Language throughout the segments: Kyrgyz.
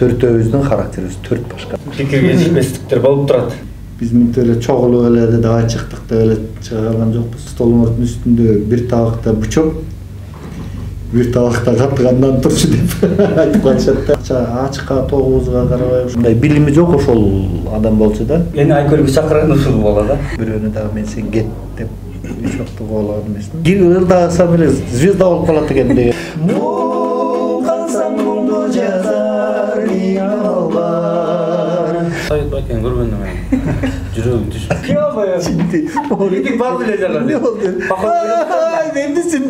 Төртөөбүздүн характерибиз төрт башка. Пикир келишпестиктер болуп турат. Биз мынтип эле чогулуп эле давай чыктык деп эле чыга алган жокпуз. Столдун үстүндө бир табакта бучок, бир табакта каттыгандан турчу деп айтып коюшат да. Ачыкка тогубузга карабай ушундай билими жок ошол адам болчу да. Эни айкөлгө чакырган ушул болот да. Бирөөнү дагы мен сен кет деп үч вакытта куулаган эмесмин. Ырдасам эле звезда болуп калат экен деген. Муңгансаң муңду жазар албар. Совет байкен көргөндөн мен жүрөгүм түшүп. Кыялбай. Эки бар эле жагат. Ай, эмнесин?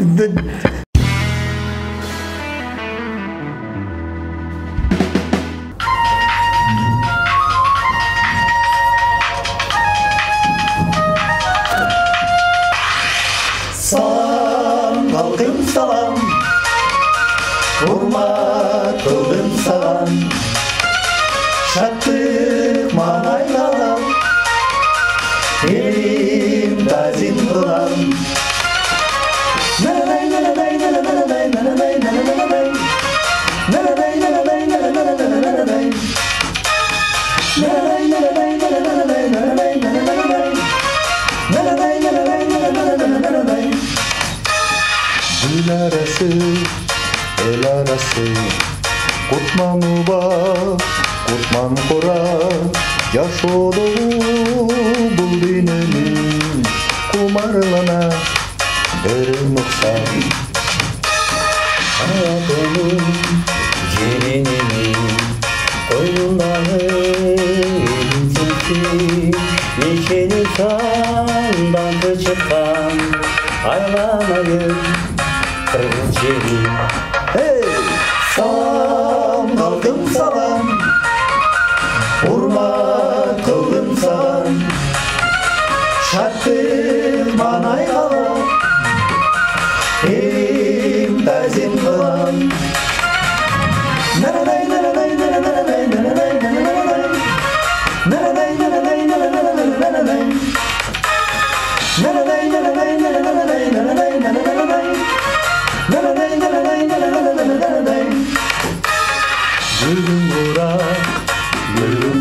Салам, халкым салам, урмат кылдым саган, шаттык маанайган, элим тазим кылам. Нанадай, нанадай, нанадай, нанадай, нанадай, нанадай, нанадай, нанадай, нанадай, нанадай, нанадай, нанадай, нанадай, нанадай. Gül arası, el arası, kurtmanı bak, kurtman kora, yaşodu bul dininin, kumarlana verim oksan. Hayatımın yemininin, koynundağı elinsin, neşeli sandan çıkan, aylamayın. Hey! Salam, kaldım salam, hurmat kıldım salam, şartım manay kalam, elim tazim kılam. Nanaday, nanaday, nanaday, nanaday, nanaday, nanaday, nanaday, nanaday, nanaday, nanaday, nanaday, nanaday, nanaday, nanaday. Gülüm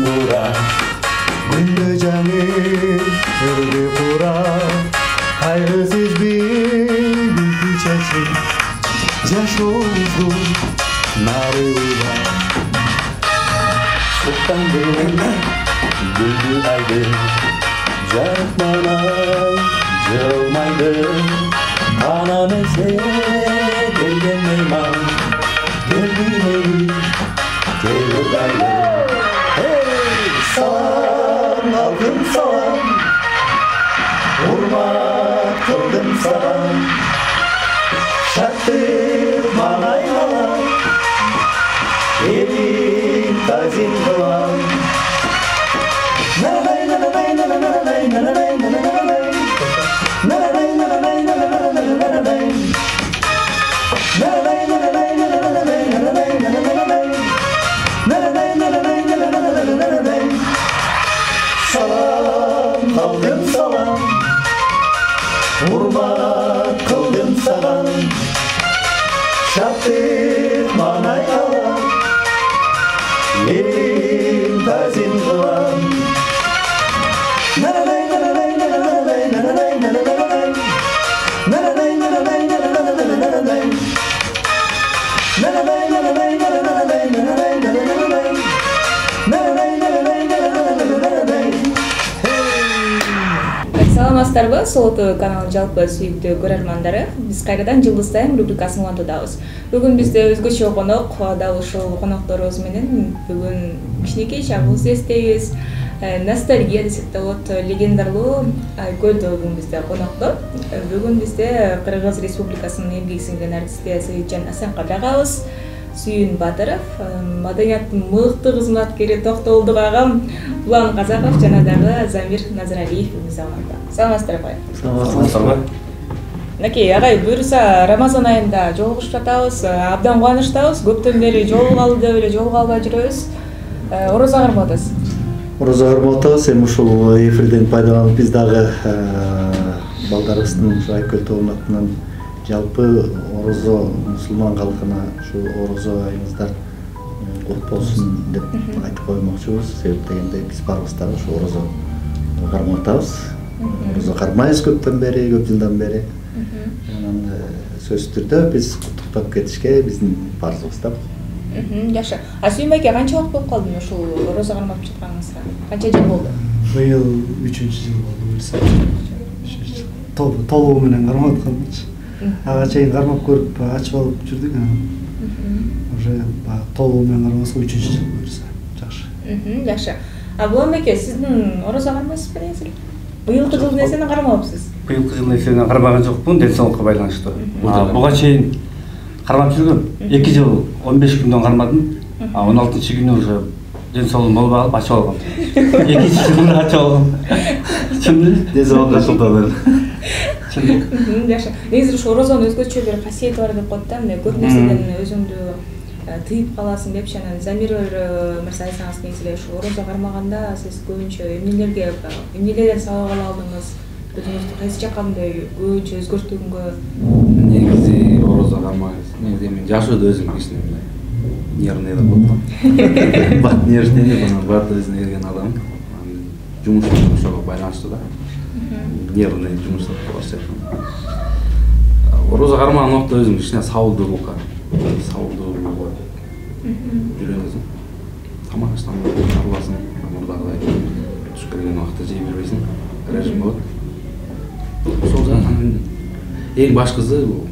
burak, güllü canım, hürri kurak, kaygısız bir çeşit, yaş oldu, narı uğrak. Sultan güldü aydı, canıkmana cılmaydı, anam ese gelgen meyman, geldiğini gelirlerdi. Hey! Salam, aldım salam, hurmat kıldım salam, şarttır manay kalam, elim tazim kılam. Nanaday, nanaday, nanaday, nanaday, nanaday, nanaday, nanaday, nanaday, nanaday, nanaday, nanaday, nanaday, nanaday, nanaday. Salam, kaldım salam, hurmat kıldım salam, şarttır manay kalam, elim tazim kılam. Nanaday, nanaday, nanaday, nanaday, nanaday, nanaday, nanaday, nanaday, nanaday, nanaday, nanaday, nanaday, nanaday, nanaday. Саламатсыздарбы, Сол ТВ каналынын жалпы сүйүктүү көрөрмандары. Биз кайрадан Жылдыз Тайм рубрикасын улантуудабыз. Бүгүн бизде өзгөчө конок, дал ушул конокторубуз менен бүгүн кичинекей чагыбызды эстейбиз. Ностальгия десек да болот, легендарлуу Айкөлдө бүгүн бизде конокто. Бүгүн бизде Кыргыз Республикасынын эмгек сиңген артисти Саитжан Асанкадагабыз, Сүйүн Батыров, маданияттын мыкты кызматкери Токтолдук агам, Улан Казаков жана дагы Замир Назаралиев мырзамарда. Саламатсыздарбы? Саламатсыздарбы? Накей, агай, буюрса Рамазан айында жолугушуп жатабыз, абдан кубанычтабыз. Көптөн бери жолугалы деп эле жолуга албай жүрөбүз. Орозо кармап атасыз. Орозо кармап атабыз. Эми ушул эфирден пайдаланып биз дагы балдарыбыздын ушу Айкөл тобунун атынан жалпы орозо мусулман калкына ушу орозо айыңыздар кут болсун деп айтып коймокчубуз. Себеп дегенде биз баарыбыз дагы ошо орозо кармап атабыз. Орозо кармайбыз көптөн бери, көп жылдан бери. Анан сөзсүз түрдө биз куттуктап кетишке биздин парызыбыз да. Жакшы. А Сүйүнбай аке канча убакыт болуп калды ушул орозо кармап жатканыңызга? Канча жыл болду? Быйыл 3-жыл болду буюрса. Толугу менен кармап атканчы. Ага чейин кармап көрүп ачып алып жүрдүк. Уже толугу менен кармаса 3-жыл буюрса. Жакшы. Жакшы. А Булан аке, сиздин орозо кармайсызбы негизи? Быйылкы жылдын эсенен кармабапсыз? Быйылкы жылдын эсенен кармаган жокмун, ден соолукка байланыштуу. Буга чейин кармап жүргөм. 2 жыл 15 күндөн кармадым. 16-күнү уже ден соолугум болбой калып ачып алгам. 2-жылда ачып алгам. Чын ден соолукка шылталар. Жакшы. Негизи ушу орозонун өзгөчө бир касиети бар деп коет да. Мына көп нерседен өзүңдү тыйып каласың депчи, анан Замир мырза айтсаңыз негизи эле ушу орозо кармаганда сиз көбүнчө эмнелерден сабак ала алдыңыз? Өзүңүздү кайсы жакка мындай көбүнчө өзгөртүүгө? Негизи орозо кармаган. Негизи мен жашоодо өзүм кичине мындай нервный деп коет. Бат нервный, бат өзүнө келген адам. Жумушум ошого байланыштуу да. Нервный жумуш деп коет. Орозо кармаган убакта өзүм кичине сабылдуулукка үйрөнөсүң. Тамак аштан арыласың, мурдагыдай туш келген убакта жей бербейсиң, режим болот. Ошол жактан эң башкысы бул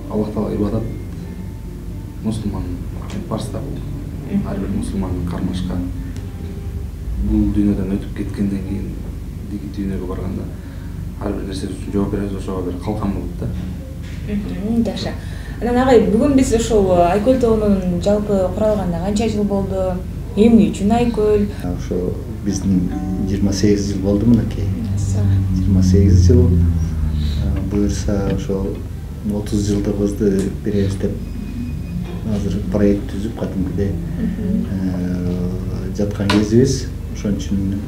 Аллах Таала ибадат, мусулман парыздар бул. Ар бир мусулмандын кармашка бул дүйнөдөн өтүп кеткенден кийин диги дүйнөгө барганда ар бир нерсе үчүн жооп беребиз, ошого бир калкан болот да. Жакшы. Анан агай, бүгүн биз ушул Айкөл тоонун жалпы куралганына канча жыл болду? Эмне үчүн Айкөл? Ошо биздин 28 жыл болду мынакей. 28 жыл. Буюрса ошо 30 жылдыгыбызды беребиз деп азыр проект түзүп кадимкидей жаткан кезибиз. Ошон үчүн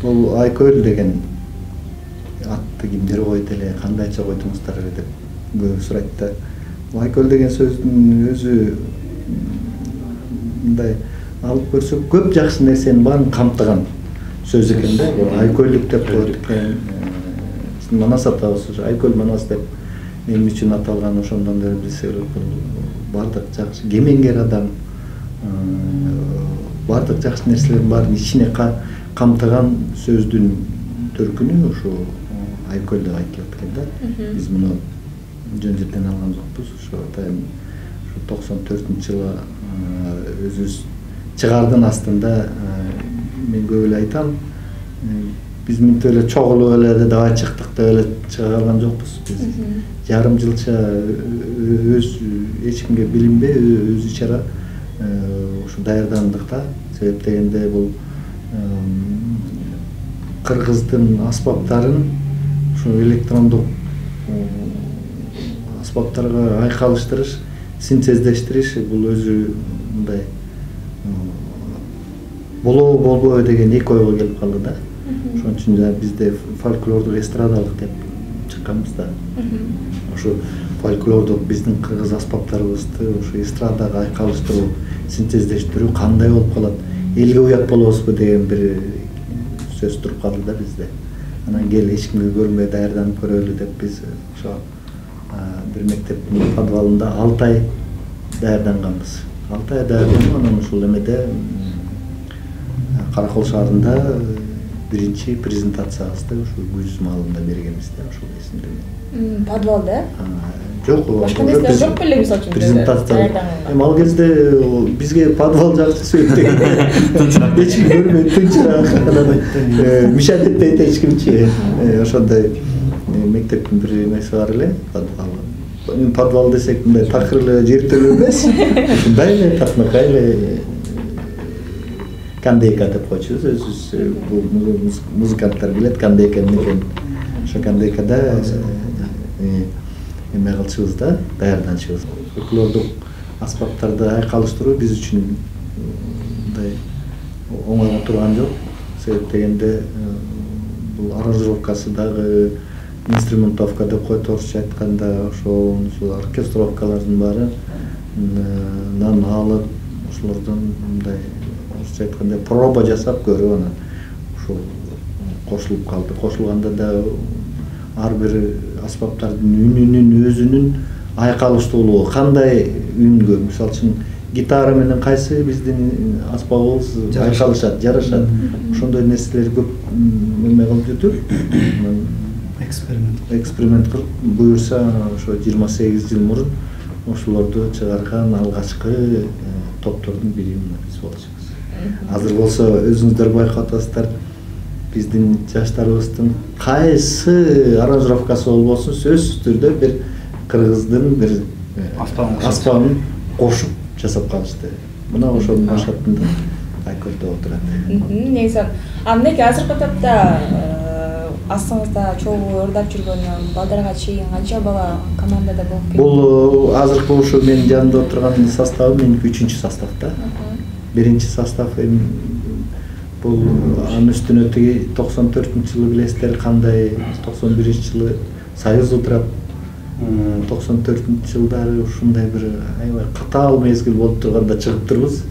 бул Айкөл деген атты кимдер койду эле, кандайча койдуңуздар эле деп көп сурайт да. Айкөл деген сөздүн өзү мындай алып көрсөк көп жакшы нерсенин баарын камтыган сөз экен да. Айкөлдүк деп коет экен. Биздин Манас атабыз ошо Айкөл Манас деп эмне үчүн аталган, ошондон бери билсек бул бардык жакшы кемеңгер адам, бардык жакшы нерселердин баарын ичине камтыган сөздүн төркүнү ушу Айкөл деп айтылат экен да. Биз муну жөн жерден алган жокпуз. Ошо атайын 94-жылы өзүбүз чыгардын астында мен көп эле айтам. Биз мынтип эле чогулуп эле давай чыктык деп эле чыга алган жокпуз. Биз жарым жылча эч кимге билинбей өз ичара ушу даярдандык да. Себеп дегенде бул кыргыздын аспаптарын ушу электрондук аспаптарга айкалыштырыш, синтездештириш бул өзү мындай болобу болбойбу деген эки ойго келип калды да. Ошон үчүн бизде фольклордук эстрадалык деп чыкканбыз да. Ошо фольклордук биздин кыргыз аспаптарыбызды ошо эстрадага айкалыштыруу, синтездештирүү кандай болуп калат? Элге уят болобузбу деген бир сөз туруп калды да бизде. Анан кел эч кимге көрүнбөй даярданып көрөлү деп биз ошо бир мектептин подвалында 6 ай даярданганбыз. 6 ай даярданып анан ушул эмеде Каракол шаарында биринчи презентациябызды ушу Гүз маалында бергенбиз да, ошол эсимде. Подвалда? Жок, башка нерсе жок беле мисалы үчүн презентация. Ал кезде бизге подвал жакшы сөйт деген. Эч ким көрбөй тынчыраак. Мишат этпейт эч кимчи. Ошондой мектептин бир эмеси бар эле, подвал. Подвал десек мындай такыр эле жертөлүү эмес. Ушундай эле такмакай эле кандейка деп койчубуз. Өзүбүз бул музыканттар билет кандейка эмне экенин. Ошо кандейкада эме кылчубуз да, даярданчубуз. Фольклордук аспаптарды айкалыштыруу биз үчүн мындай оңой турган жок. Себеп дегенде бул аранжировкасы дагы инструментовка деп коет орусча айтканда, ошол оркестровкалардын баары алып ошолордон мындай орусча айтканда проба жасап көрүп анан ушул кошулуп калды. Кошулганда да ар бир аспаптардын үнүнүн өзүнүн айкалыштуулугу кандай үнгө, мисалы үчүн гитара менен кайсы биздин аспабыбыз айкалышат, жарашат. Ошондой нерселер көп эме кылып жүрдүк. Эксперимент кылып, буюрса ошо 28 жыл мурун ошолорду чыгарган алгачкы топтордун бири биз болчубуз. Азыр болсо өзүңүздөр байкап атасыздар, биздин жаштарыбыздын кайсы аранжировкасы болбосун сөзсүз түрдө бир кыргыздын бир аспабын кошуп жасап калышты. Мына ошонун башатында айкөлдөп отурат. Негизи мынеки азыркы топто астыңызда чогуу ырдап жүргөн балдарга чейин канча бала командада болуп келди? Бул азыркы ушу менин жанымда отурган составы меники 3-чү составда. Биринчи состав бул анын үстүнө тиги 94-жылы билесиздер кандай, 91-жылы Союз утурат. 94-жылдары ушундай бир аябай катаал мезгил болуп турганда чыгыптырбыз.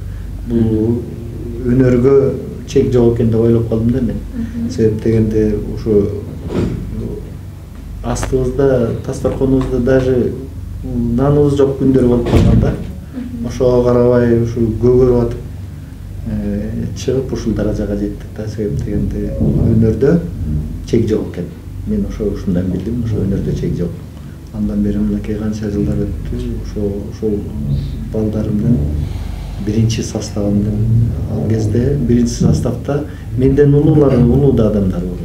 Бул өнөргө чек жок экен деп ойлоп калдым да мен. Себеп дегенде ушу астыбызда, дасторконубузда даже наныбыз жок күндөр болуп калганда, ошого карабай ушу көгөрүп атып чыгып ушул даражага жеттик да. Себеп дегенде өнөрдө чек жок экен. Мен ушундан билдим, ошо өнөрдө чек жок. Андан бери мынакей канча жылдар өттү, ошол балдарымдын биринчи составында ал кезде биринчи составда менден улуу да адамдар болчу.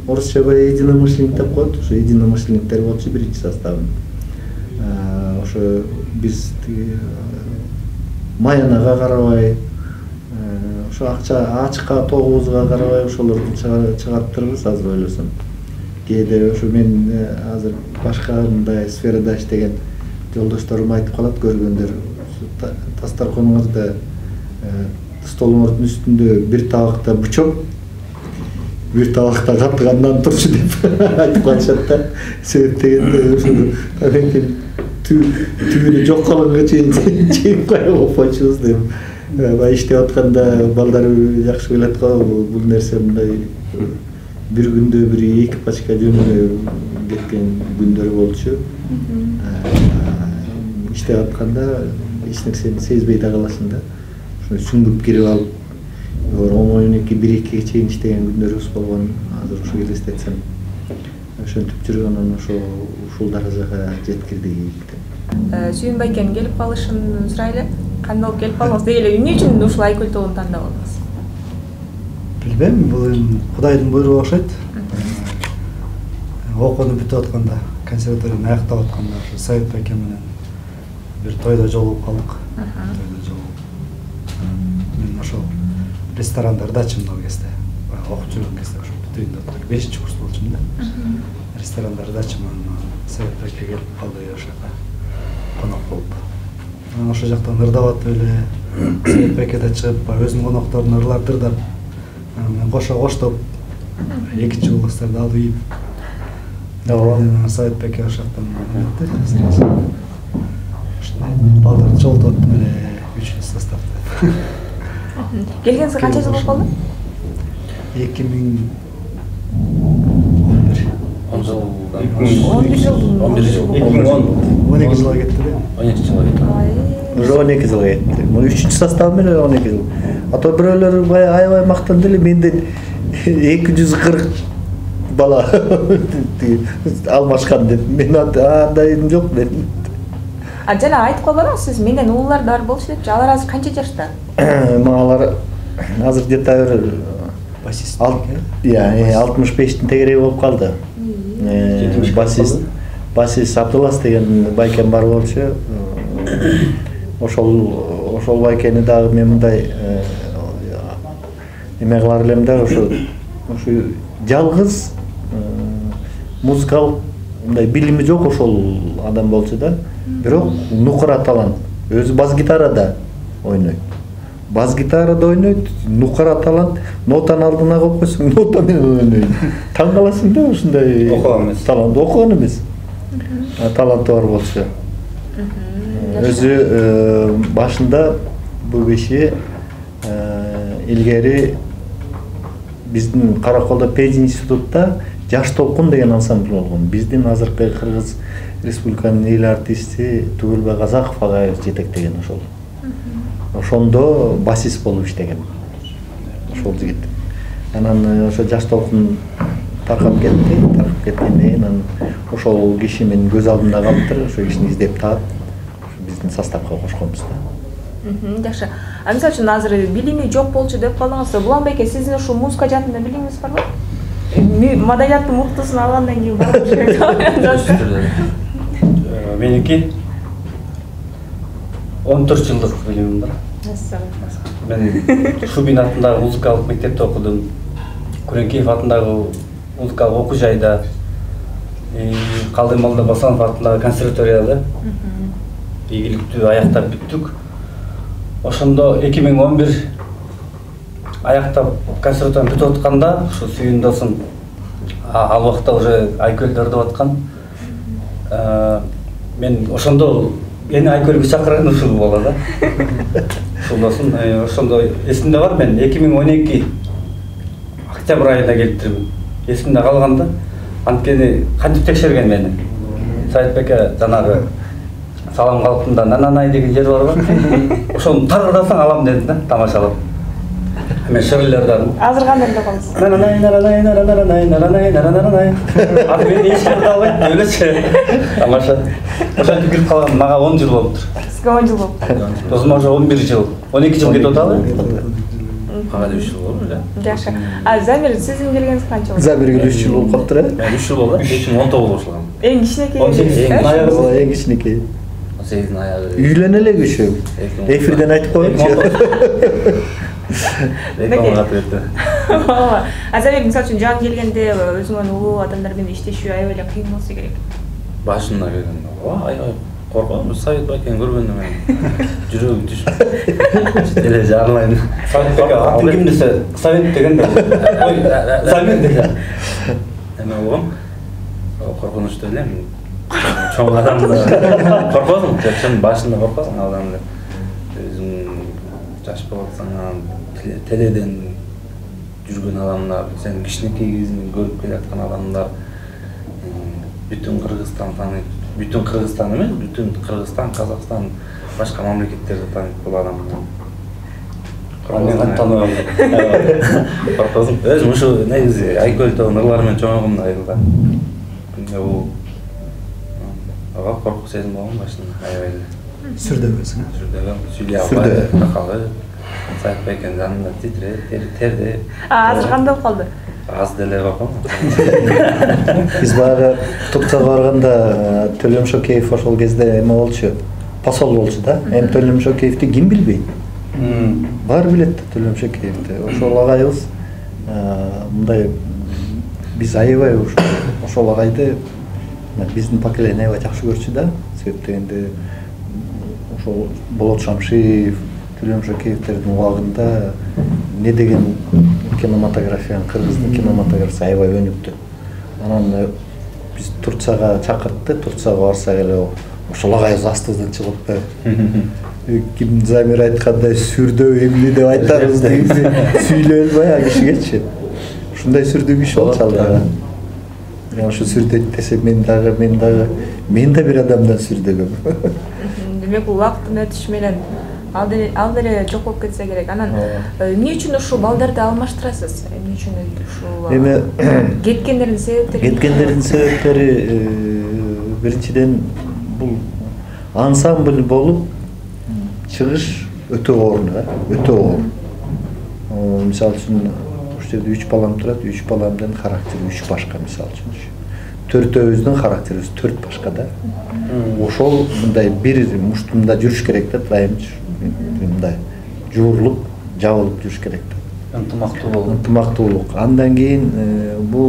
Орусча единомышленник деп коет, ошо единомышленниктер болчу биринчи составын. Ошо биз маянага карабай, ошо ачка тогубузга карабай ошолорду чыгарттырбыз азыр ойлосом. Кээде ошо мен азыр башка мындай сферада иштеген жолдошторум айтып калат, көргөндөр дасторконуңузда столуңуздун үстүндө бир табакта бычок, бир табакта катыгандан турчу деп айтып калышат да. Себеп дегенде ошо түбүнө жок калганга чейин жеп коюп койчубуз деп. Баягы иштеп атканда балдар жакшы билет го, бул нерсе мындай бир күндө бир 2 пачка жөнүнө кеткен күндөр болчу. Иштеп атканда эч нерсени сезбей да каласың да. Ошо сүңгүп кирип алып, 12-1-2 чейин иштеген күндөрүбүз болгон. Азыр ошо элестетсем, ошентип жүрүп анан ушул даражага жеткирдик. Сүйүн байкенин келип калышын сурайлы. Кандай болуп келип калдыңыз? Деги эле эмне үчүн ушул айкөл тобун тандадыңыз? Билбейм, бул эми Кудайдын буйругу окшойт. Окууну бүтүп атканда, консерваторияны аяктап атканда ошо Совет байке менен бир тойдо жолугуп калдык. Мен ошол ресторандарда чымдал кезде, окуп жүргөн кезде ошо бүтөйүндө отурдук. 5-курс болчумун да. Ресторандарда чыман Совет байке келип калды ошоко конок болуп. Ошол жактан ырдап атып эле Совет байкеде чыгып, өзүнүн конокторун ырлардырдап, мен коштоп 2 жолдошторду алып ийип. Совет байке ошол жактан өттү. Балдар жолдоп эле 3-чү составда. Келгениңизге канча жыл болуп калды? 2011 жыл. 11 жыл. 12 жылга кетти да. 12 жылга кетти. Уже 12 жылга кетти. Мына 3-чү состав менен 12 жыл. Ата бирөөлөр аябай мактанды эле, менден 240 бала алмашкан деп. Мен андайым жок мен. Жана айтып калбадыңыз сиз, менден уулар бар болчу депчи. Алар азыр канча жашта? Алар азыр где-то бир Басист. 65-тин тегереги болуп калды. Басист Абдулас деген байкем бар болчу. Ошол байкени дагы мен мындай эме кылар элем да, ошо жалгыз музыкалык мындай билими жок ошол адам болчу да. Бирок нукура талант. Өзү бас-гитарада ойнойт. Бас-гитарада ойнойт, нукура талант. Нотаны алдына коюп койсоң, нота менен ойнойт. Таң каласың да, ушундай талант окуган эмес. Таланты бар болчу. өзү башында бул киши илгери биздин Караколдо пединститутта Жаш толкун деген ансамбль болгон. Биздин азыркы Кыргыз Республиканын эл артисти Түгүлбек Казаков агайыбыз жетектеген ошол. Ошондо басист болуп иштеген. Ошол жигит. Анан ошо Жаш толкун таркап кеткенден кийин анан ошол киши менин көз алдымда калыптыр. Ошол кишини издеп таап биздин составга кошконбуз да. Жакшы. А мисалы үчүн азыр билими жок болчу деп калдыңыз. Булан беке, сиздин ушул музыка жаатында билимиңиз барбы? Маданияттын муктусун алгандан кийин барбы? Меники 14 жылдык билимим бар. Мен Шубин атындагы музыкалык мектепте окудум. Күреңкеев атындагы музыкалык окуу жайда, Калдый Молдо Басанов атындагы консерваторияда ийгиликтүү аяктап бүттүк. Ошондо 2011 аяктап консерваторияны бүтүп атканда, ушу Сүйүн досум ал убакта уже Айкөлдөрдү аткан. Мен ошондо эни Айкөлгө чакырган ушул бала да. Ушул досум ошондо эсимде бар, мен 2012 октябрь айында келиптирмин. Эсимде калганда, анткени кантип текшерген мени. Саитбеке жанагы салам калпында Нананай деген жер бар го. Ошону таргыдасаң алам дедим да, тамашалап. Мен шөрлөрдөн. Азыр кандай деп калдыңыз? Нананай, Нананай, Нананай, Нананай, Нананай. Аты мен эчкирди албайт, өлөчү. Тамаша. Ошентип кирип калган, мага 10 жыл болуптур. Сизге 10 жыл болуптур. Досума уже 11 жыл, 12 жыл кетип атабы? Ага 3 жыл болду, да. Жакшы. А Замир, сиздин келгениңиз канча болду? Замирге 3 жыл болуп калыптыр, Мен 3 жыл болду, 2019 баштагам. Эң кичинекей. 18 аягы. Эң кичинекей. 18 аягы. Үйлөнө эле күшү. Эфирден айтып коеюнчу. Рекламага кетти. А Замир, мисалы үчүн жан келгенде өзүңөн улуу адамдар менен иштешүү аябай эле кыйын болсо керек. Башында келгенде, аябай корком, Совет байкени көргөндө мен жүрөгүм түшүп. Эле жарылайын. Атын ким десе, Совет деген да. Ой, Совет деген. Эме болгом. Коркунучтуу элем. Чоң адамды коркосуң, чын башында коркосуң адамды. Өзүң жаш болуп атсаң, теледен жүргөн адамдар, сен кичинекей кезиңден көрүп келаткан адамдар бүтүн Кыргызстан тааныйт. Бүтүн Кыргызстан эмес, бүтүн Кыргызстан, Казакстан, башка мамлекеттерди тааныйт бул адамды. Мен тааныбайм. Коркосуң. Өзүм ушу негизи Айкөлдө ырлар менен чоңойгом да айылда. Бул коркуп сезим болгон башында аябай эле. Сүрдөбөсүң. Сүрдөбөм, сүйлөй албай, такалы. Саитбекенин жанында терде. Азыр кандай болуп калды? Аз деле корком. Биз баягы Турцияга барганда Төлөм Шокеев ошол кезде эме болчу, посол болчу да. Эми Төлөм Шокеевди ким билбейт? Баары билет да Төлөм Шокеевди. Ошол агайыбыз мындай биз аябай ошол агайды биздин поколение аябай жакшы көрчү да. Себеп дегенде ошол Болот Шамшиев, Төлөм Шокеевтердин убагында не деген кинематографиянын, кыргыздын кинематографиясы аябай өнүктү. Анан биз Турцияга чакыртты, Турцияга барсак эле ошол агайыбыз астыбыздан чыгып ким Замир айткандай сүрдөө эмне деп айтарбыз дегенде сүйлөй элбай а кишигечи. Ушундай сүрдүү киши болчу ал дагы. Ошо сүрдөйт десе мен да бир адамдан сүрдөгөм. Демек бул убакыттын өтүшү менен ал деле жок болуп кетсе керек. Анан эмне үчүн ушул балдарды алмаштырасыз? Эмне үчүн ушул Эми кеткендердин себептери биринчиден бул ансамбль болуп чыгыш өтө оор да, өтө оор. Мисалы үчүн ушул жерде 3 балам турат, 3 баламдын характери 3 башка мисалы үчүн. Төртөөбүздүн характерибиз 4 башка да. Ошол мындай бир муштумда жүрүш керек да, дайым мындай жуурулуп, жабылып жүрүш керек да. Ынтымактуулук. Андан кийин бул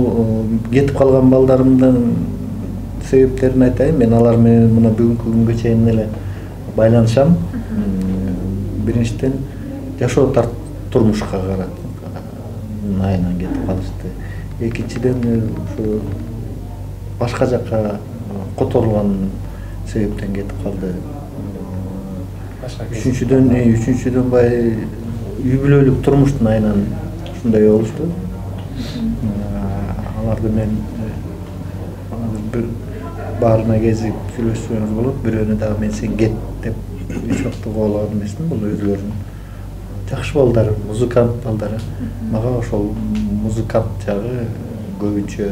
кетип калган балдарымдын себептерин айтайын. Мен алар менен мына бүгүнкү күнгө чейин эле байланышам. Биринчиден жашоо турмушка карап айынан кетип калышты. Экинчиден ушу башка жакка которулган себептен кетип калды. үчүнчүдөн баягы үй бүлөлүк турмуштун айынан ушундай болушту. Аларды мен бир баарына кезип сүйлөшсөңүз болот. Бирөөнү дагы мен сен кет деп эч убакта куулаган эмесмин. Бул өзүлөрүнүн жакшы балдары, музыкант балдары. Мага ошол музыкант жагы көбүнчө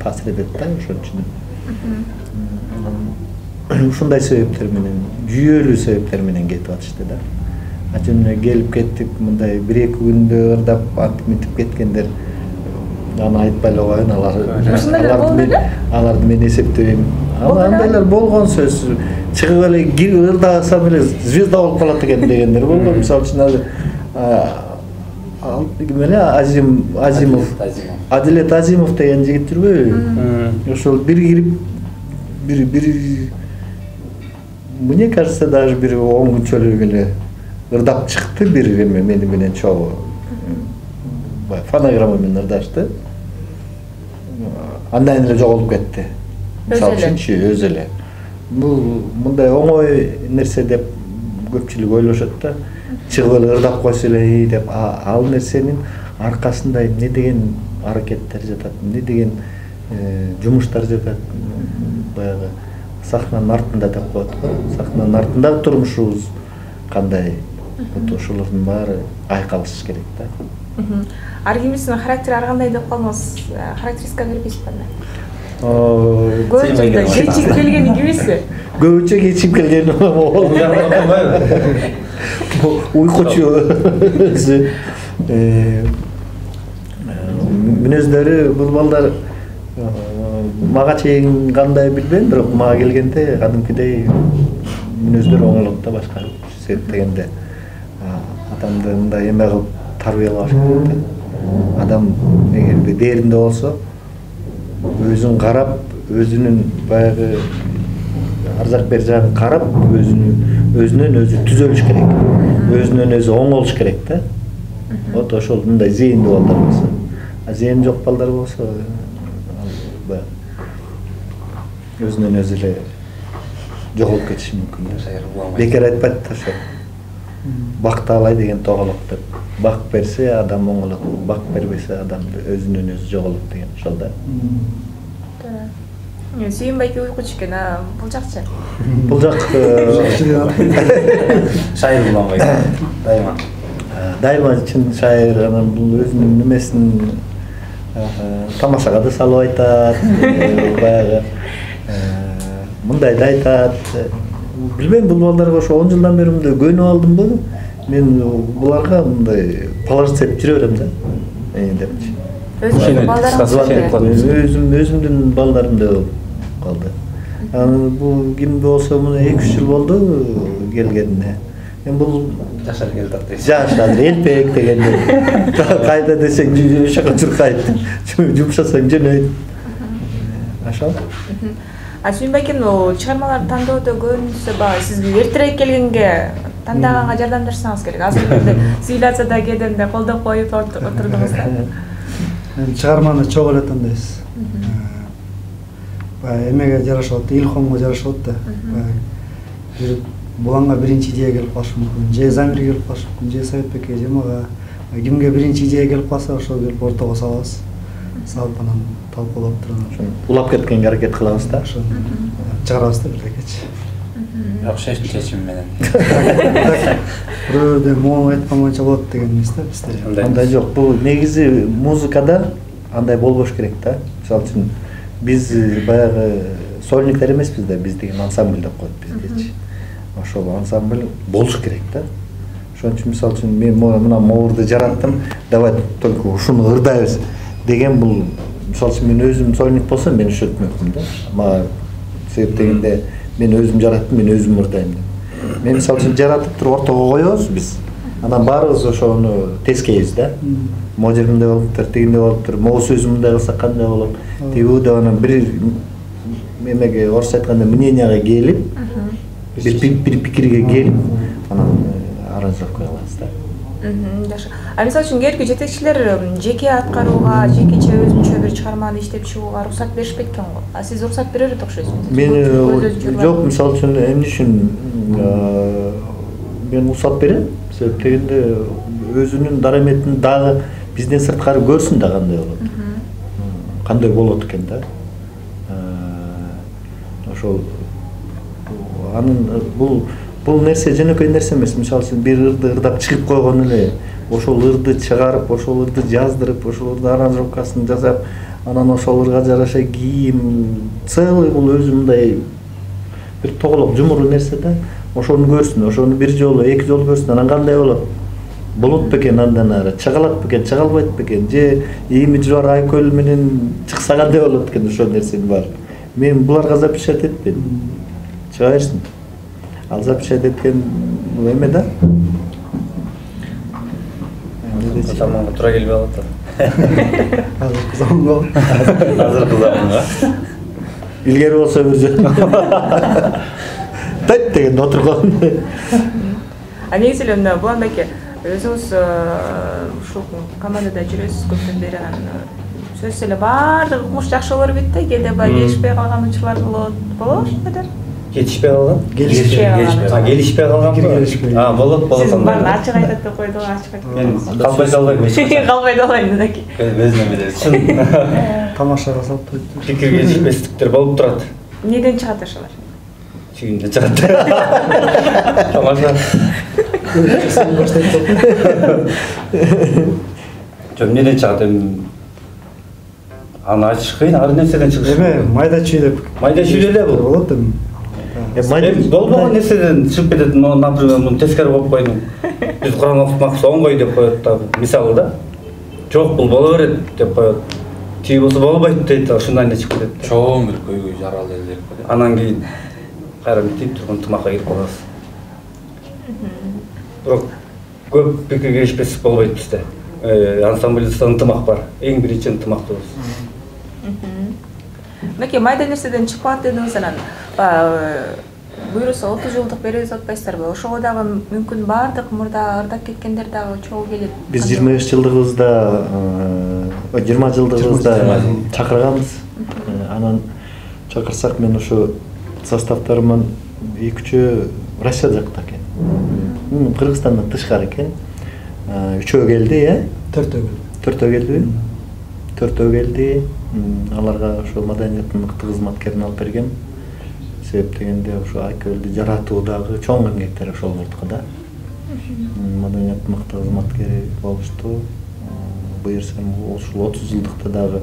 таасир этет да ошон үчүн. Ушундай себептер менен, жүйөлүү себептер менен кетип атышты да. Ачымына келип кеттик, мындай 1-2 күндө ырдап антип мынтип кеткендер. Аны айтпай эле коеюн, аларды мен эсептебейм. Андайлар болгон сөз. Чыгып эле ырдасам эле звезда болуп калат экен дегендер болгон. Мисалы үчүн Азимов, Адилет Азимов деген жигит жүрбөйбү? Ошол бир кирип мне кажется, даже бир 10 күнчөлүк эле ырдап чыкты бир эме мени менен чогуу. Фонограмма менен ырдашты. Андан эле жоголуп кетти. Мисалы үчүнчү өзү эле. Бул мындай оңой нерсе деп көпчүлүк ойлошот да. Чыгып эле ырдап койсо эле деп, ал нерсенин аркасында эмне деген аракеттер жатат, эмне деген жумуштар жатат. Баягы сахнанын артында деп коет го. Сахнанын артындагы турмушубуз кандай? Ошолордун баары айкалыш керек да. Ар кимдин характери ар кандай деп калдыңыз? Характеристика бербейсизби анда? Көбүнчө кечип келгени кимиси? Көбүнчө кечип келгени уйкучу өзү. Мүнөздөрү бул балдар мага чейин кандай билбейм, бирок мага келгенде кадимкидей мүнөздөр оңолот да башка себептегенде. Адамды мындай эме кылып тарбиялаш керек да. Адам эгерде дээринде болсо, өзүн карап, өзүнүн баягы ар жак бер жагын карап, өзүнөн өзү түзөлүш керек. Өзүнөн өзү оңолуш керек да. Вот ошол мындай зээндүү балдар болсо. Зээни жок балдар болсо, өзүнөн өзү эле жоголуп кетиши мүмкүн. Бекер айтпайт да ошо. Бакты алай деген тоголок деп. Бак берсе адам оңолот, бак бербесе адам өзүнөн өзү жоголот деген ошол да. Сүйүн байке уйкучу экен, бул жакчы. Бул жак шайыр буланбай. Дайыма чын шайыр, анан бул өзүнүн немесин тамашага да салып айтат, баягы мындай да айтат. Билбейм, бул балдарга ошо 10 жылдан бери мындай көнүп алдымбы? Мен буларга мындай паларцеп жүрө берем да. Депчи. Өзүмдүн балдарымдай болуп калды. Анан бул ким болсо мына 2-3 жыл болду келгенине. Мен бул жашар келдат дейсиз. Жашар элпек дегенде. Кайда десең ошого чуркайт. Жумшасаң жөнөйт. Ошол. Сүйүн байкенин чыгармаларды тандоодо көбүнчөсү сизге эртерээк келгенге тандаганга жардамдашсаңыз керек. Азыр эле сыйласа да кеденде колдоп коюп отурдуңуз да. Чыгарманы чогуу эле тандайбыз. Эмеге жарашып атты, илхомго жарашып атты. Буланга биринчи идея келип калышы мүмкүн, же Замирге келип калышы мүмкүн, же Советбекке, же мага. Кимге биринчи идея келип калса, ошол келип ортого салабыз. Салып анан талкуулап туруп, улап кеткенге аракет кылабыз да. Ошону чыгарабыз да бирдекечи. Бирок чечим менен. Бирөөдөн моң айткан боюнча болот деген эмес да бизде. Андай жок. Бул негизи музыкада андай болбош керек да. Мисалы үчүн биз баягы сольниктер эмеспиз да, биз деген ансамбль деп коет биздечи. Ошол ансамбль болуш керек да. Ошон үчүн мисалы үчүн мен мына моурду жараттым, давай только ушуну ырдайбыз деген бул мисалы үчүн мен өзүм сольник болсом мен ишетмөкмүн да. Мага себептегенде мен өзүм жараттым, мен өзүм ырдайм деп. Мен мисалы үчүн жаратып туруп ортого коебуз биз. Анан баарыбыз ошону тескейбиз да. Могу жеринде болуптур, тигинде болуптур, могу сөзү мындай кылсак кандай болот? Тигүү деп анан бир эмеге орусча айтканда мненияга келип, бир пикирге келип, анан аранжировка кылабыз да. Жакшы. Мисалы үчүн кээинки жетекчилер жеке аткарууга, жекече өзүнчө бир чыгарманы иштеп чыгууга уруксат беришпейт экен го. Сиз уруксат берер окшойсуз. Мен жок, мисалы үчүн эмне үчүн мен уруксат берем. Себеп дегенде өзүнүн дараметин дагы бизден сырткары көрсүн да кандай болот. Кандай болот экен да. Ошол анын бул нерсе жөнөкөй нерсе эмес. Мисалы үчүн бир ырды ырдап чыгып койгон эле, ошол ырды чыгарып, ошол ырды жаздырып, ошол ырды аранжировкасын жасап, анан ошол ырга жараша кийим, целый бул өзү мындай бир тоголок жумуру нерсе да. Ошону көрсүн, ошону бир жолу, эки жолу көрсүн, анан кандай болот? Болот бекен андан ары, чыгалат бекен, чыгалбайт бекен, же ийми жуар айкөл менен чыкса кандай болот экен ошол нерсенин баары. Мен буларга запрещать этпейм. Чыга берсин. Ал запрещать эткен бул эме да. Заманга туура келбей калат. Азыркы заманга. Азыркы заманга. Илгери болсо бир жолу. Тайт деген отурган. Негизи эле Булан байке, өзүңүз ушул командада жүрөсүз көптөн бери, анан сөзсүз эле баардык укмуш жакшы боло бербейт да, кээде баягы келишпей калган учурлар болобу ошондор? Жетишпей калган? Келишпей калган. Келишпей калган. Болот. Сиз баарын ачык айтат деп койду, ачык айтып. Мен калбай далбайм. Калбай далбайм деки. Өзүнө билет. Чын Тамашага салып койду. пикир келишпестиктер болуп турат. Неден чыгат ошолор? Чыгында чыгат. Тамаша. Жок, неден чыгат эми? Аны ачыш кыйын, ар нерседен чыгыш. Эме майда чүйдөп. Майда чүйдө эле бул. Болот эми. Эми болбогон нерседен чыгып кетет. Например, муну тескери коюп койдум. Биз Кур'ан окутмакчы оңгой деп коет да, мисалы да. Жок, бул боло берет деп коет. Тиги болсо болбойт дейт, ушундай эле чыгып кетет. Чоң бир көйгөй жаралды эле деп коет. Анан кийин кайра митип турган тымакка кирип калабыз. Бирок көп пикир келишпестик болбойт бизде. Ансамбльда ынтымак бар. Эң биринчи ынтымактыбыз. Меке майда нерседен чыгып калат дедиңиз, анан буюрса 30 жылдык беребиз деп атпайсыздарбы? Ошого дагы мүмкүн баардык мурда ырдап кеткендер дагы чогуу келет. Биз 25 жылдыгыбызда, 20 жылдыгыбызда чакырганбыз. Анан чакырсак мен ошо составтарыман 2-3 Россия жакта экен. Кыргызстандан тышкары экен. 3-өө келди, 4-өө келди. 4-өө келди. Аларга ошо маданияттын мыкты кызматкерин алып бергем. Себеп дегенде ошо айкөлдү жаратуудагы чоң эмгектер ошолордуку да. Маданияттын мыкты кызматкери болушту. Буюрсам ушул 30 жылдыкта дагы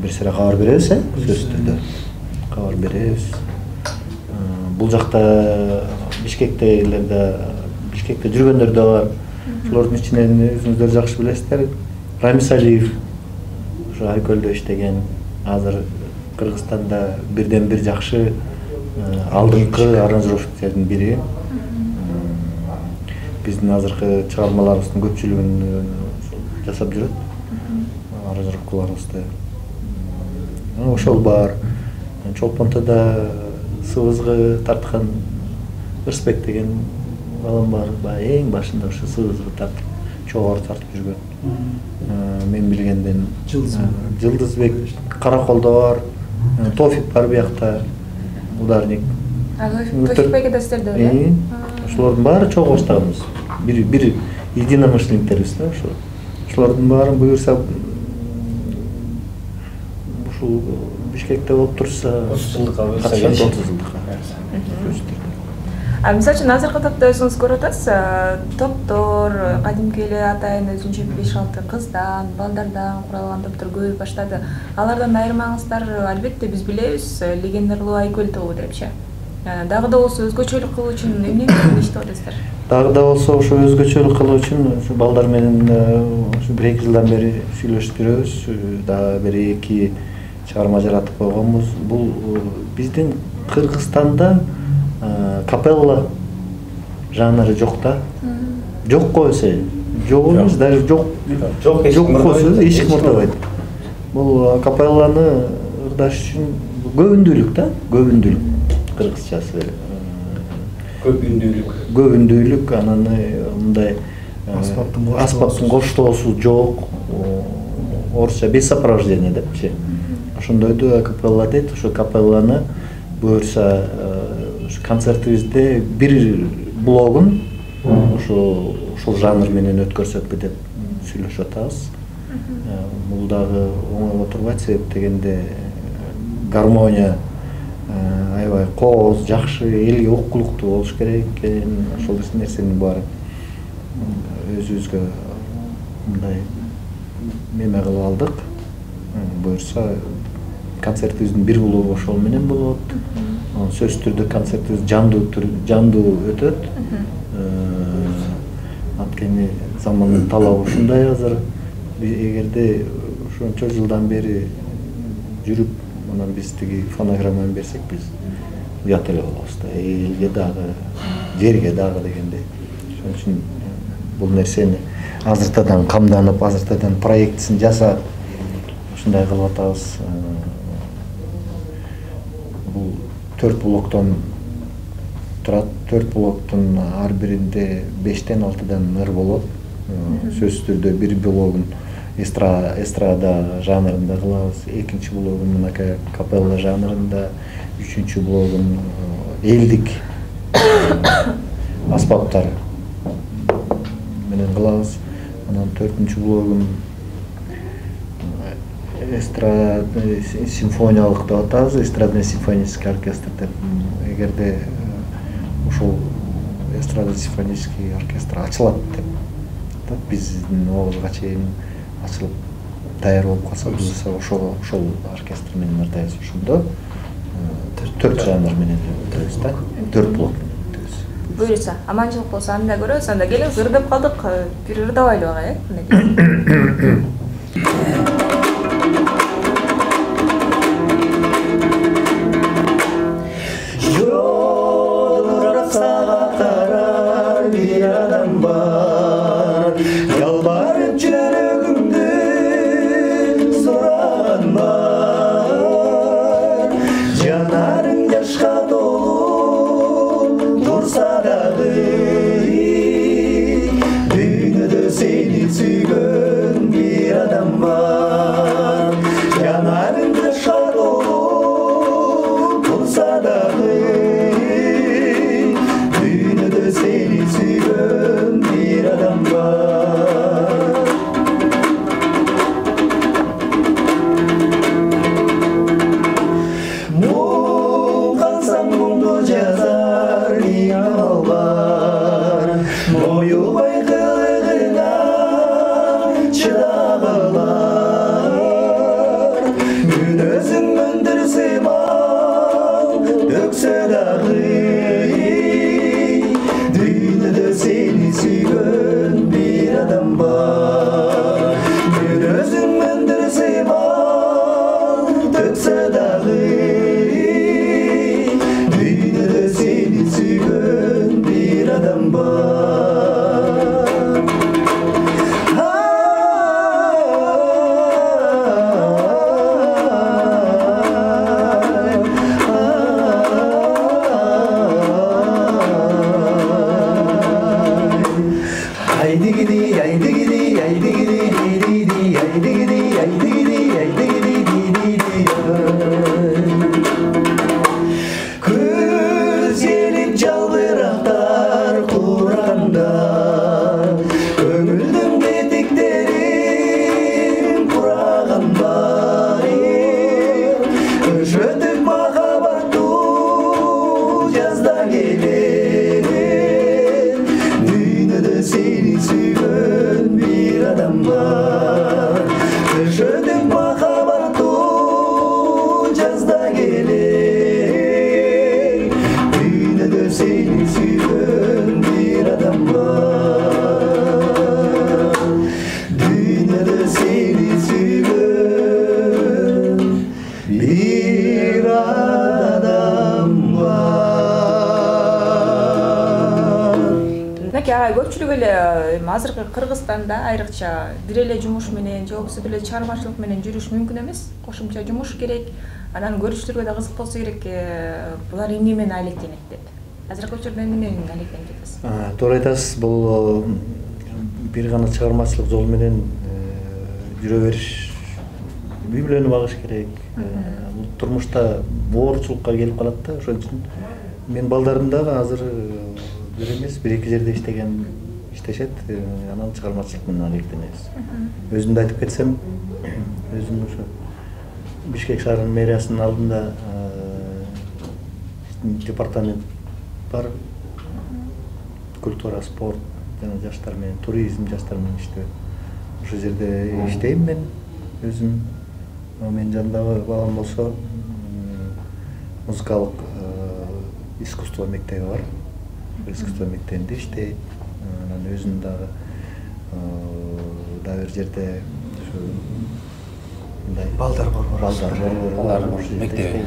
бир сыйра кабар беребиз, сөзсүз түрдө. Кабар беребиз. Бул жакта Бишкекте жүргөндөр да бар. Ошолордун ичинен өзүңүздөр жакшы билесиздер. Рамис Алиев ошо айкөлдө иштеген, азыр Кыргызстанда бирден бир жакшы алдыңкы аранжировщиктердин бири. Биздин азыркы чыгармаларыбыздын көпчүлүгүн жасап жүрөт. Аранжировкаларыбызды. Ошол бар. Чолпонтода сыбызгы тарткан Ырысбек деген балам бар. Эң башында ошо сыбызгы тартып, чогор тартып жүргөн. Мен билгенден Жылдызбек Караколдо бар. Тофик бар биякта. Ударник. Тофикбек да сиздерде беле? Ошолордун баары чогуу баштаганбыз. Бир единомышленниктербиз да ошо. Ошолордун баарын буюрса ушул Бишкекте болуп турса 30 жылдыкка буюрса 30 жылдыкка. Мисалы үчүн азыркы топто өзүңүз көрүп атасыз, топтор кадимки эле атайын өзүнчө 5-6 кыздан, балдардан куралган топтор көбөйүп баштады. Алардан айырмаңыздар, албетте биз билебиз, легендардуу айкөл тобу депчи. Дагы да болсо өзгөчөлүк кылуу үчүн эмне иштеп атасыздар? Дагы да болсо ошо өзгөчөлүк кылуу үчүн ушу балдар менен ушу 1-2 жылдан бери сүйлөшүп жүрөбүз. Дагы бир 2 чыгарма жаратып койгонбуз. Бул биздин Кыргызстанда капелла жанры жок да. Жок койсо, жок эмес, даже жок койсо эч ким ырдабайт. Бул капелланы ырдаш үчүн көбүндүүлүк да, көбүндүүлүк. Кыргызчасы эле. Көбүндүүлүк, анан мындай аспаптын коштоосу жок. Орусча без сопровождения депчи. Ошондойду капелла дейт. Ошо капелланы буюрса концертибизде бир блогун ушул жанр менен өткөрсөкпү деп сүйлөшүп атабыз. Бул дагы оңой отурбайт, себеп дегенде гармония аябай кооз, жакшы, элге уккулуктуу болуш керек экен. Ошол нерсенин баары өзүбүзгө мындай неме кылып алдык. Буюрса концертибиздин бир блогу ошол менен болот. Сөзсүз түрдө концертибиз жандуу өтөт. Анткени замандын талабы ушундай азыр. Эгерде ошончо жылдан бери жүрүп, анан биз тиги фонограмманы берсек, биз уят эле болобуз да. Элге дагы, жерге дагы дегендей. Ошон үчүн бул нерсени азыртадан камданып, азыртадан проектисин жасап, ушундай кылып атабыз. Бул 4 блоктон турат. 4 блоктун ар биринде 5-тен 6-дан ыр болот. Сөзсүз түрдө бир блогун эстрада жанрында кылабыз, экинчи блогун мынакай капелла жанрында, үчүнчү блогун элдик аспаптар менен кылабыз. Анан 4-чү блогун эстрада симфониялык деп атабыз, эстрадный симфонический оркестр деп. Эгерде ошол эстрада симфонический оркестр ачылат деп биздин обузга чейин ачылып даяр болуп калса, биз ошол оркестр менен ырдайбыз. Ошондо 4 жанр менен өтөбүз да, 4 блок менен өтөбүз. Буюрса, аманчылык болсо анда көрөбүз. Анда келиңиз, ырдап калдык, бир ырдабайлы ага, көпчүлүк эле азыркы Кыргызстанда айрыкча бир эле жумуш менен же болбосо бир эле чыгармачылык менен жүрүш мүмкүн эмес. Кошумча жумуш керек. Анан көрүүчүлөргө да кызык болсо керек. Булар эмне менен алектенет деп. Азыркы учурда эмне менен алектенип жатасыз? Туура айтасыз. Бул бир гана чыгармачылык жол менен жүрө бериш, үй-бүлөнү багыш керек. Бул турмушта боорчулукка келип калат да. Ошон үчүн Мен балдарым дагы азыр бир эмес, 1-2 жерде иштешет. Анан чыгармачылык менен алектенебиз. Өзүмдү айтып кетсем, өзүм ошо Бишкек шаарынын мэриясынын алдында департамент бар. Культура, спорт, жана жаштар менен, туризм, жаштар менен иштөө. Ошол жерде иштейм мен өзүм. Менин жанымдагы балам болсо музыкалык искусство мектеби бар. Искусство мектебинде иштейт. Анан өзүм дагы бир жерде ошо мындай балдар бар. Балдар мектеби.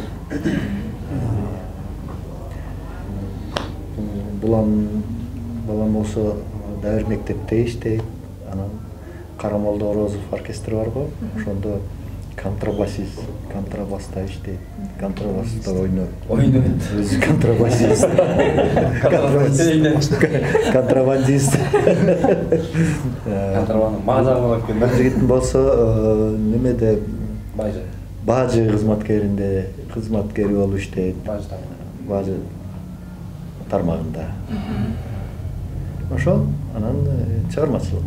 Балам болсо дагы бир мектепте иштейт. Анан Карамолдо Орозов оркестри бар го. Ошондо контрабаста иштейт. Контрабаста ойнойт. Өзү контрабасист. Контрабандист. Маза болот экен. Жигитим болсо немеде бажы кызматкери болуп иштейт. Бажы тармагында. Ошол анан чыгармачылык.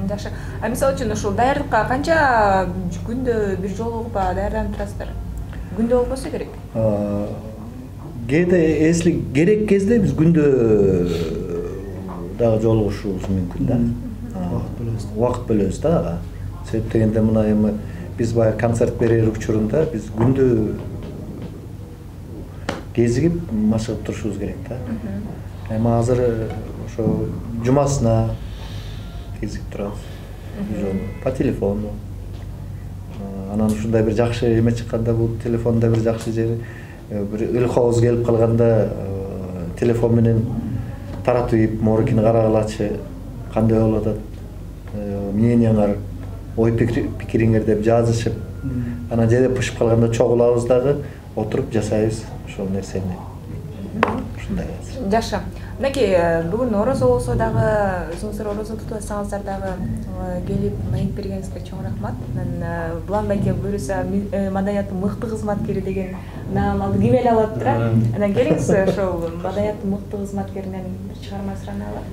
Жакшы. Мисалы үчүн ушул даярдыкка канча күндө бир жолу даярданып турасыздар? Күндө болбосо керек. Кээде если керек кезде биз күндө дагы жолугушубуз мүмкүн да. Убакыт бөлөбүз да. Себеп дегенде мына эми биз баягы концерт берер учурунда биз күндө кезигип машыгып турушубуз керек да. Эми азыр ошо жумасына кезигип турабыз. По телефону. Анан ушундай бир жакшы эме чыкканда, бул телефонда бир жакшы жери, бир ылкообуз келип калганда телефон менен таратып, моорукини карагылачы, кандай болуп атат, мнениеңер, ой пикириңер деп жазышып, анан жерде пышып калганда чогулабыз дагы, отуруп жасайбыз ошол нерсени. Ушундай. Жакшы. Мынакей бүгүн орозо болсо дагы, өзүңүздөр орозо тутуп атсаңыздар дагы келип маек бергениңизге чоң рахмат. Мен Булан байке буюрса маданияттын мыкты кызматкери деген наам алып кимел алып турат. Анан келиңиз ошол маданияттын мыкты кызматкеринен бир чыгарма сурана алалы.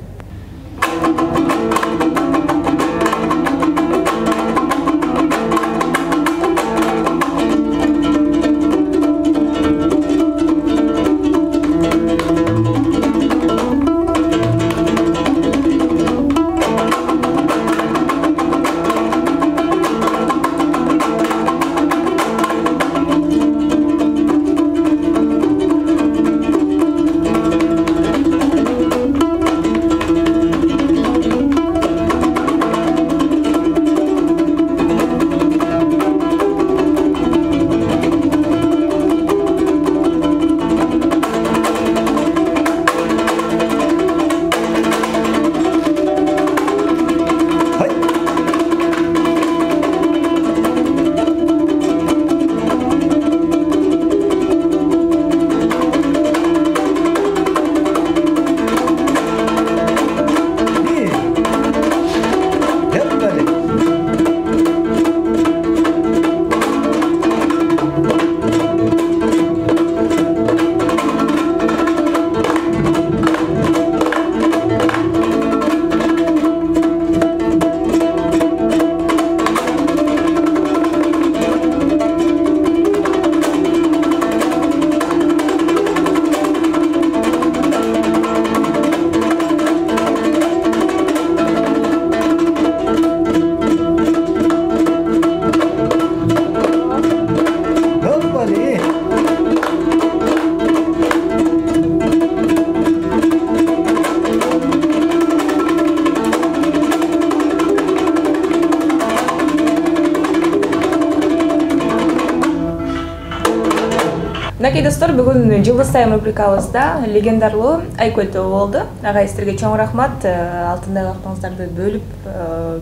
Мынакей достор, бүгүн Жылдыз Тайм рубрикабызда легендарлуу Айкөл тобу болду. Ага сиздерге чоң рахмат, алтындай вактыңыздарды бөлүп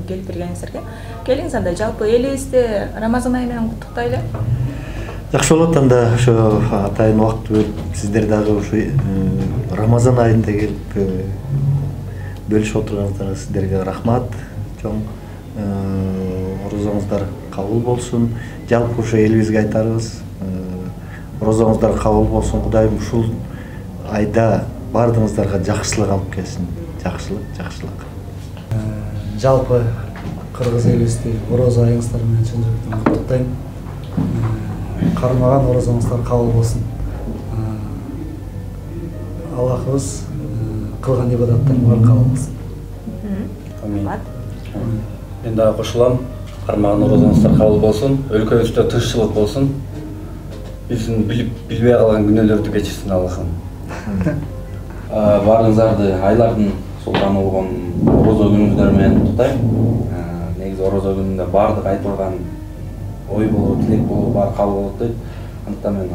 келип бергениңиздерге. Келиңиз анда жалпы элибизди Рамазан айы менен куттуктайлы. Жакшы болот, анда ошо атайын убакыт бөлүп сиздер дагы ушу Рамазан айында келип бөлүшүп отурганыңыздарга сиздерге рахмат. Чоң орозоңуздар кабыл болсун. Жалпы ушу элибизге айтарыбыз, орозоңуздар кабыл болсун. Кудайым ушул айда баардыгыңыздарга жакшылык алып келсин. Жакшылык. Жалпы кыргыз элибизди орозо айыңыздар менен чын жүрөктөн куттуктайм. Кармаган орозоңуздар кабыл болсун. Аллахыбыз кылган ибадаттан баары кабыл болсун. Амин. Мен дагы кошулам. Кармаган орозоңуздар кабыл болсун. Өлкөбүздө тынччылык болсун. Биздин билбей калган күнөөлөрдү кечирсин Аллахым. Баарыңыздарды айлардын султаны болгон орозо күнүңүздөр менен куттуктайм. Негизи орозо күнүндө баардык айтылган ой болобу, тилек болобу баары кабыл болот дейт. Андыктан мен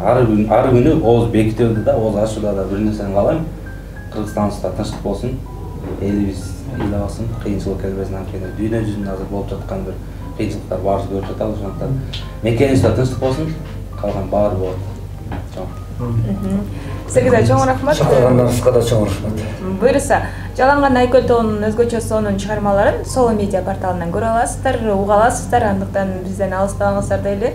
ар күнү ооз бекитүүдө да, ооз ачууда да бир нерсени каалайм. Кыргызстаныбызда тынчтык болсун, элибиз ыйлап алсын, кыйынчылык келбесин. Анткени дүйнө жүзүндө азыр болуп жаткан бир кыйынчылыктар баарыбыз көрүп жатабыз. Ошондуктан мекенибизде тынчтык болсун, калган баары болот. Сизге чоң рахмат. Чакыргандарыңызга да чоң рахмат. Буюрса, Жаланган Айкөл тоонун өзгөчө сонун чыгармаларын Соло медиа порталынан көрө аласыздар, уга аласыздар. Андыктан бизден алыстабаңыздар дейли.